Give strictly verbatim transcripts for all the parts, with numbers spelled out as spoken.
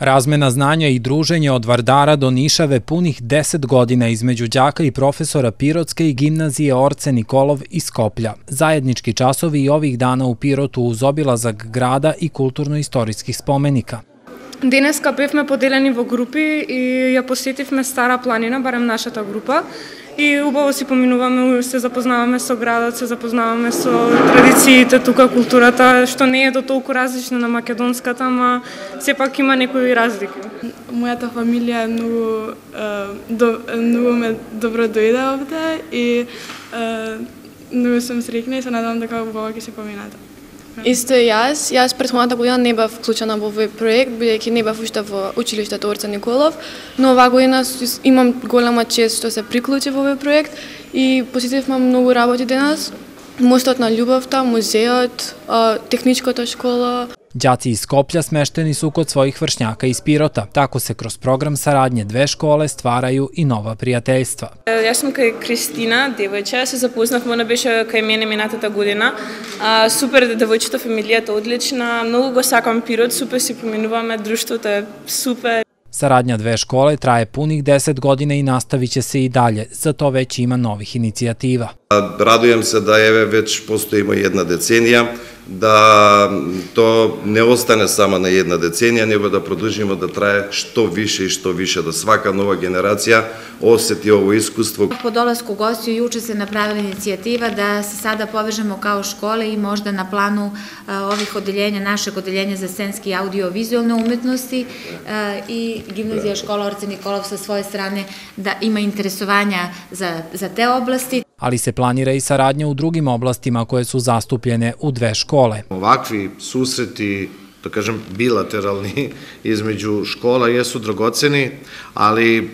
Razmena znanja i druženje od Vardara do Nišave punih deset godina između đaka i profesora Pirotske i gimnazije Orce Nikolov iz Skoplja. Zajednički časovi i ovih dana u Pirotu uz obilazak grada i kulturno-istorijskih spomenika. Денеска бевме поделени во групи и ја посетивме Стара планина, барем нашата група. И убаво си поминуваме, се запознаваме со градот, се запознаваме со традициите тука, културата, што не е до толку различна на македонската, ама сепак има некои разлики. Мојата фамилија е многу, до, многу ме добро дојде овде и многу сум среќна и се надевам дека убаво ќе се поминат. Исто и јас. Јас претходната година не бев вклучена во овој проект, бидејќи не бев уште во училиштето Орце Николов, но оваа година имам голема чест што се приклучи во овој проект и посетивме многу работи денес. Мостот на љубовта, музеот, техничката школа. Đaci iz Skoplja smešteni su kod svojih vršnjaka iz Pirota. Tako se kroz program saradnje dve škole stvaraju i nova prijateljstva. Јас сум кај Кристина, девојче, се запознавме, она беше кај мене минатата година. А, супер девојчето, фамилијата одлична, многу го сакам Пирот, супер си поминуваме, друштвото е супер. Saradnja dve škole traje punih deset godina i nastavit će se i dalje, za to već ima novih inicijativa. Radujem se da еве već postojimo jedna decenija, da to ne ostane samo na jedna decenija, nego da produžimo da traje što više i što više, da svaka nova generacija osjeti ovo iskustvo. Po dolasku gostiju juče se napravila inicijativa da se sada povežemo kao škole i možda na planu ovih odeljenja, našeg odeljenja za scenski i audio-vizualne umetnosti i gimnazija škola Orce Nikolov sa svoje strane da ima interesovanja za, za te oblasti. Ali se planira i saradnja u drugim oblastima koje su zastupljene u dve škole. Ovakvi susreti, da kažem, bilateralni između škola jesu dragoceni, ali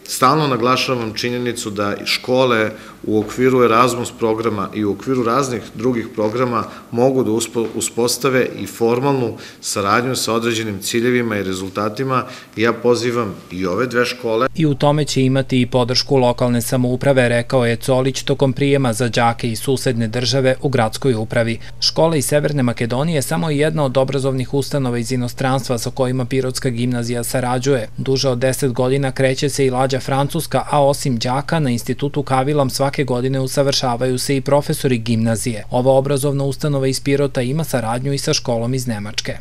stalno naglašavam činjenicu da škole u okviru Erasmus programa i u okviru raznih drugih programa mogu da uspostave i formalnu saradnju sa određenim ciljevima i rezultatima. Ja pozivam i ove dve škole. I u tome će imati i podršku lokalne samouprave, rekao je Colić tokom prijema za đake iz susedne države u gradskoj upravi. Škola iz Severne Makedonije je samo jedna od obrazovnih ustanova iz inostranstva sa kojima Pirotska gimnazija sarađuje. Duže od deset godina kreće se i lađa Francuska, a osim đaka na institutu Kavilam svake godine usavršavaju se i profesori gimnazije. Ova obrazovna ustanova iz Pirota ima saradnju i sa školom iz Nemačke.